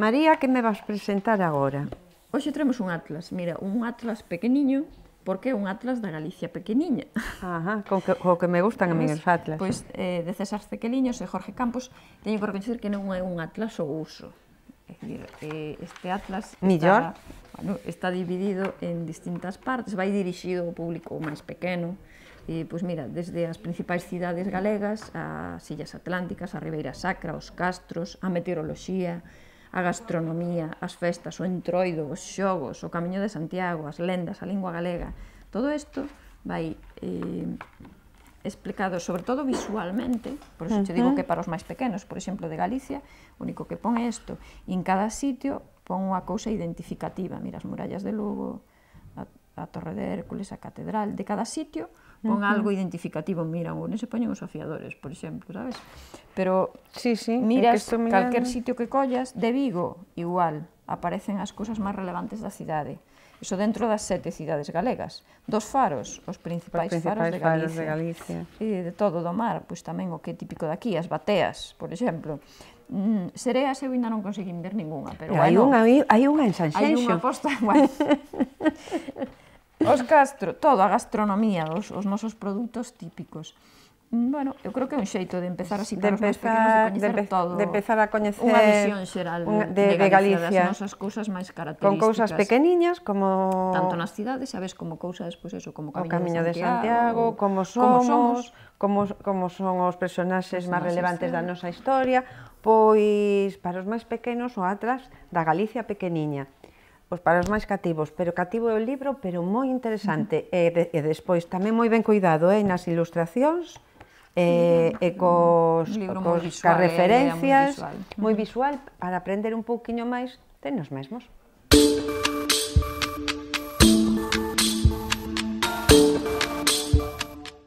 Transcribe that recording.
María, que me vas presentar agora? Hoxe traemos un atlas, mira, un atlas pequeniño, porque é un atlas da Galicia pequeniña. Ajá, co que me gustan a mí os atlas. Pois de César Cequeliños e Jorge Campos, teño que recoñecer que non é un atlas ao uso. É dicir, este atlas está dividido en distintas partes, vai dirixido ao público máis pequeno. Pois mira, desde as principais cidades galegas, as Illas Atlánticas, a Ribeira Sacra, os castros, a meteoroloxía, a gastronomía, as festas, o entroido, os xogos, o Camiño de Santiago, as lendas, a lingua galega. Todo isto vai explicado, sobre todo visualmente, por iso te digo que para os máis pequenos, por exemplo, de Galicia, o único que pon é isto, e en cada sitio pon unha cousa identificativa, mira, as murallas de Lugo, a Torre de Hércules, a Catedral, de cada sitio pon algo identificativo, mira, non se poñen os afiadores, por exemplo, sabes? Pero miras calquer sitio que collas, de Vigo, igual, aparecen as cousas máis relevantes da cidade. Iso dentro das 7 cidades galegas. Dos faros, os principais faros de Galicia. E de todo do mar, pois tamén o que é típico daqui, as bateas, por exemplo. Sereas eu ainda non conseguín ver ninguna, pero bueno. Hai unha en Sanxenxo. Hai unha posta, bueno. Os castro, todo, a gastronomía, os nosos produtos típicos. Bueno, eu creo que é un xeito de empezar a citar os máis pequenos, de coñecer todo. De empezar a coñecer unha visión xeral de Galicia, das nosas cousas máis características. Con cousas pequeniñas, como... Tanto nas cidades, sabes, como cousas, pois eso, como o Camiño de Santiago, como somos, como son os personaxes máis relevantes da nosa historia, pois, para os máis pequenos, o atlas da Galicia pequeniña. Pois para os máis cativos, pero cativo é o libro, pero moi interesante. E despois tamén moi ben cuidado nas ilustracións, e cos referencias, moi visual, para aprender un pouquiño máis de nos mesmos.